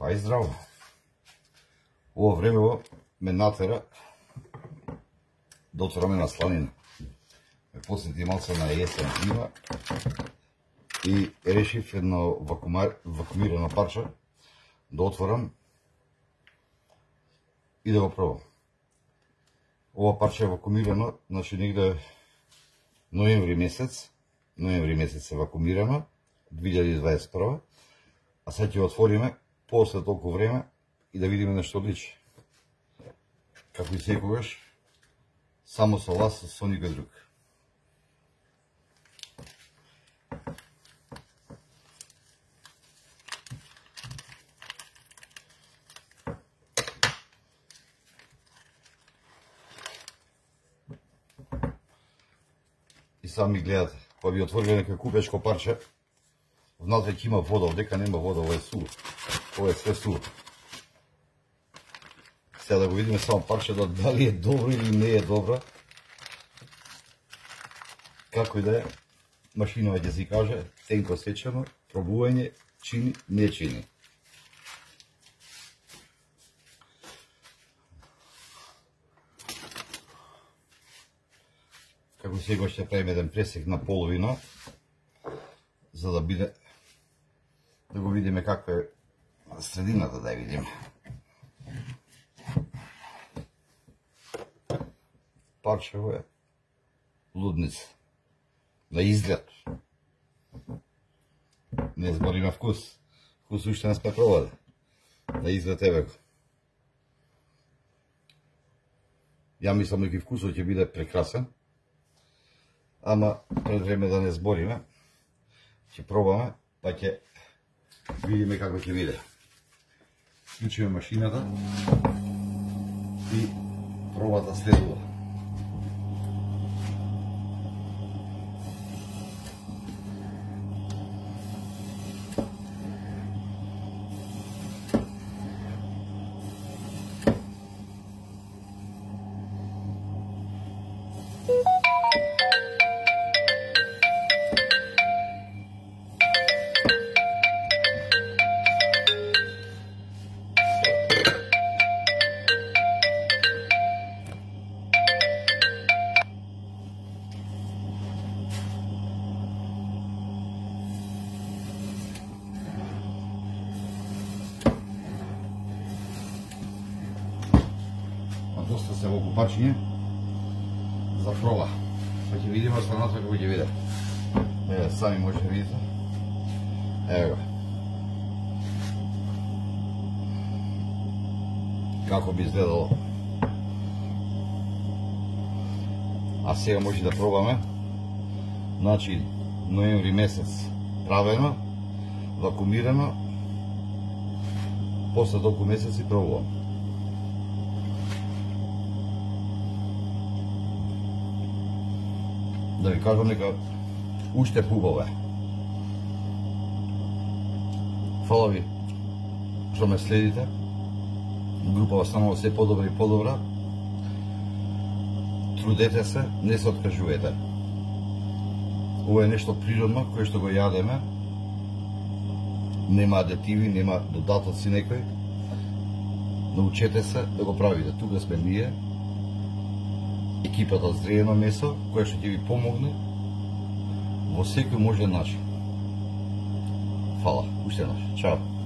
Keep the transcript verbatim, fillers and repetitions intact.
Па и здраво. Ово времево ме натера да отвораме на сланина. Ме посети малце на есен зима и решив едно вакуумар... вакуумирано парче да отворам и да го пробам. Ова парче е вакуумирано, значи негде ноември месец, ноември месец е вакуумирано, две илјади дваесет и прва, а сега ќе отвориме после толку време и да видиме нешто личи. Како и секогаш, само со вас, со никој друг. И сами гледате, па би отвориле некој купечко парче, внатре ќе има вода, овдека нема вода, ова е суво. Ова е све суво. Сега да го видиме само парчето, дали е добро или не е добро. Како и да е, машинава ќе си каже, тенко сечено, пробување, чини, не чини. Како сега ќе правиме еден пресек на половина, за да биде, да го видиме каква е средината, да ја видиме. Парчево е лудница. На изглед. Не збориме вкус. Вкус уште не сме пробали. На изглед еве го. Ја мислам дека вкусот ќе биде прекрасен. Ама пред време да не збориме, ќе пробаме, па ќе видиме како ќе биде. Вклучиме машината и пробата следува. Доста се во парчиње за проба. Па ќе видиме останата како ќе биде. Еве, сами може да видите. Ево го. Како би изгледало. А сега може да пробаме. Значи, ноември месец правено, вакуумирано, после толку месеци пробувам. Да ви кажам дека уште хубаво е. Фала ви што ме следите. Групава станува се подобра и подобра. Трудете се, не се откажувате. Ова е нешто природно, кое што го јадеме. Нема адитиви, нема додатоци некои. Научете се да го правите. Тука сме ние, екипата Зреено месо, која што ќе ви помогне во секој можен начин. Фала, уште еднаш. Чао.